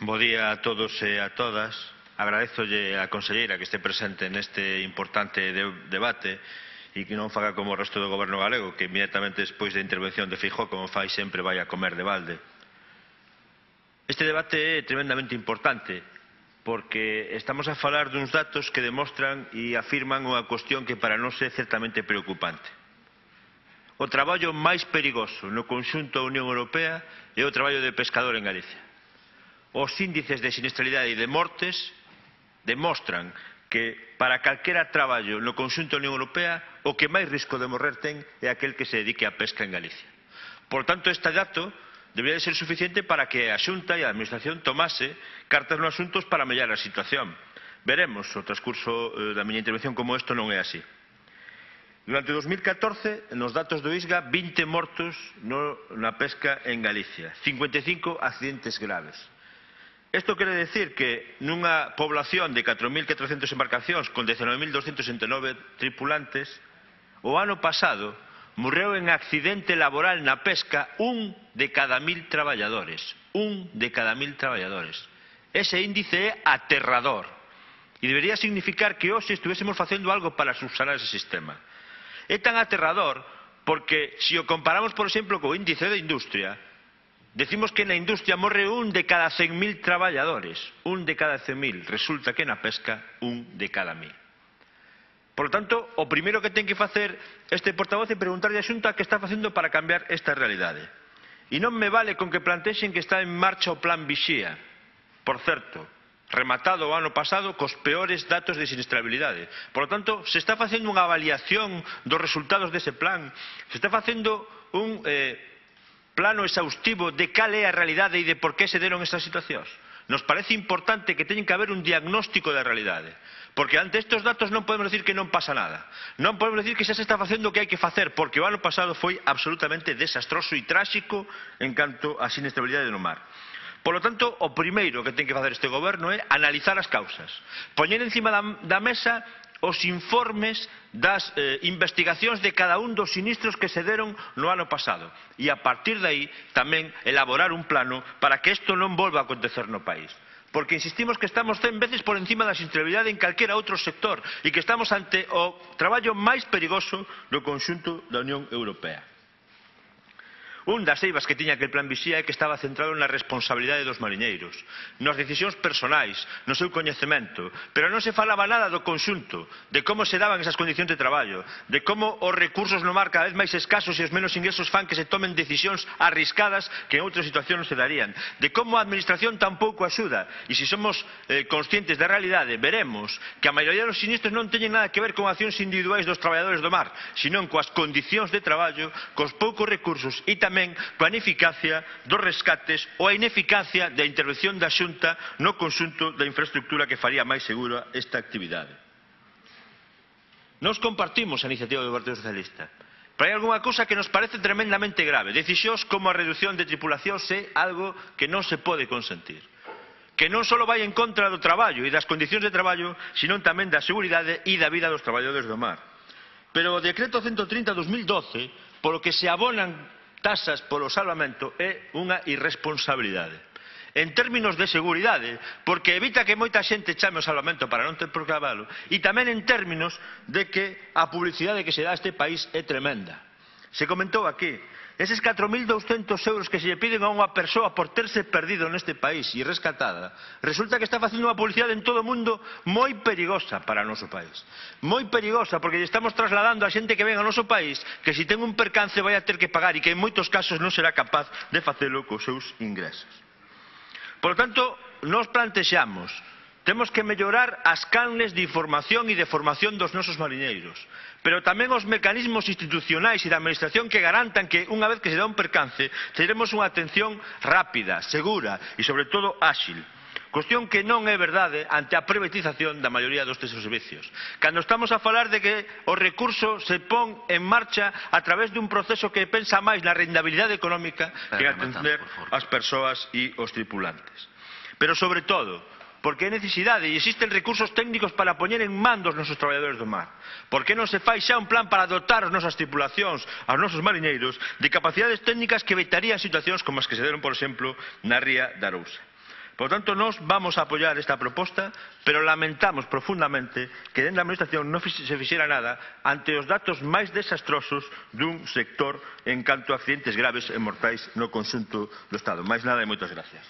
Bo día a todos e a todas. Agradezolle á conselleira que este presente neste importante debate e que non faga como o resto do goberno galego, que inmediatamente despois da intervención de Feijóo, como fai sempre, vai a comer de balde. Este debate é tremendamente importante porque estamos a falar duns datos que demostran e afirman unha cuestión que para nós é certamente preocupante. O traballo máis perigoso no conxunto da Unión Europea é o traballo de pescador en Galicia. Os índices de sinistralidade e de mortes demostran que para calquera traballo no conxunto da Unión Europea o que máis risco de morrer ten é aquel que se dedique á pesca en Galicia. Por tanto, este dato debería de ser suficiente para que a Xunta e a Administración tomase cartas nos asuntos para mellorar a situación. Veremos o transcurso da miña intervención como isto non é así. Durante 2014, nos datos do ISGA, 20 mortos na pesca en Galicia, 55 accidentes graves. Isto quere decir que nunha población de 4.400 embarcacións con 19.269 tripulantes, o ano pasado morreu en accidente laboral na pesca un de cada 1.000 traballadores. Un de cada 1.000 traballadores. Ese índice é aterrador e debería significar que hoxe estuvéssemos facendo algo para subsanar ese sistema. É tan aterrador porque, se o comparamos, por exemplo, co índice de industria, decimos que na industria morre un de cada 100.000 traballadores. Un de cada 100.000. Resulta que na pesca, un de cada 1.000. Por lo tanto, o primeiro que ten que facer este portavoz é preguntarlle á Xunta que está facendo para cambiar esta realidade. E non me vale con que plantexen que está en marcha o plan Vixía. Por certo, rematado o ano pasado cos peores datos de sinistrabilidade. Por lo tanto, se está facendo unha avaliación dos resultados dese plan, se está facendo un plano exhaustivo de cal é a realidade e de por que se deron estas situacións. Nos parece importante que teñen que haber un diagnóstico da realidade, porque ante estes datos non podemos decir que non pasa nada. Non podemos decir que xa se está facendo o que hai que facer, porque o ano pasado foi absolutamente desastroso e tráxico en canto á sinistrabilidade no mar. Por lo tanto, o primeiro que ten que facer este goberno é analizar as causas, poñer encima da mesa os informes das investigacións de cada un dos sinistros que se deron no ano pasado e a partir de aí tamén elaborar un plano para que isto non volva a acontecer no país. Porque insistimos que estamos 100 veces por encima da sinistrabilidade en calquera outro sector e que estamos ante o traballo máis perigoso do conxunto da Unión Europea. Un das eivas que tiña aquel plan Vixía é que estaba centrado na responsabilidade dos mariñeiros, nas decisións personais, no seu coñecemento, pero non se falaba nada do conxunto, de como se daban esas condicións de traballo, de como os recursos no mar cada vez máis escasos e os menos ingresos fan que se tomen decisións arriscadas que en outras situacións non se darían, de como a administración tampouco axuda, e se somos conscientes da realidade, veremos que a maioría dos sinistros non teñen nada que ver con accións individuais dos traballadores do mar, senón coas condicións de traballo, cos poucos recursos e tamén coa ineficacia dos rescates ou a ineficacia da intervención da Xunta no conxunto da infraestructura que faría máis segura esta actividade. Nós compartimos a iniciativa do Partido Socialista, pero hai algunha cousa que nos parece tremendamente grave. Decisións como a reducción de tripulacións é algo que non se pode consentir, que non só vai en contra do traballo e das condicións de traballo, senón tamén da seguridade e da vida dos traballadores do mar. Pero o decreto 130/2012, polo que se abonan tasas polo salvamento, é unha irresponsabilidade. En términos de seguridade, porque evita que moita xente chame o salvamento para non ter por que lavalo, e tamén en términos de que a publicidade que se dá a este país é tremenda. Se comentou aquí, eses 4.200 euros que se lle piden a unha persoa por terse perdido neste país e rescatada, resulta que está facendo unha publicidade en todo o mundo moi perigosa para o noso país. Moi perigosa, porque lle estamos trasladando a xente que ven ao noso país que se ten un percance vai a ter que pagar e que en moitos casos non será capaz de facelo cos seus ingresos. Por lo tanto, nós plantexamos, temos que mellorar as canles de información e de formación dos nosos mariñeiros, pero tamén os mecanismos institucionais e da administración que garantan que, unha vez que se dá un percance, teremos unha atención rápida, segura e, sobre todo, áxil. Cuestión que non é verdade ante a privatización da maioría dos servicios. Cando estamos a falar de que o recurso se pon en marcha a través dun proceso que pensa máis na rentabilidade económica que atender as persoas e os tripulantes. Pero, sobre todo, porque é necesidade e existen recursos técnicos para poñer en man dos nosos traballadores do mar. Por que non se fai xa un plan para dotar as nosas tripulacións, aos nosos mariñeiros, de capacidades técnicas que evitarían situacións como as que se deron, por exemplo, na ría de Arousa? Por lo tanto, nós vamos a apoiar esta proposta, pero lamentamos profundamente que dentro da Administración non se fixera nada ante os datos máis desastrosos dun sector en canto a accidentes graves e mortais no conxunto do Estado. Máis nada e moitas gracias.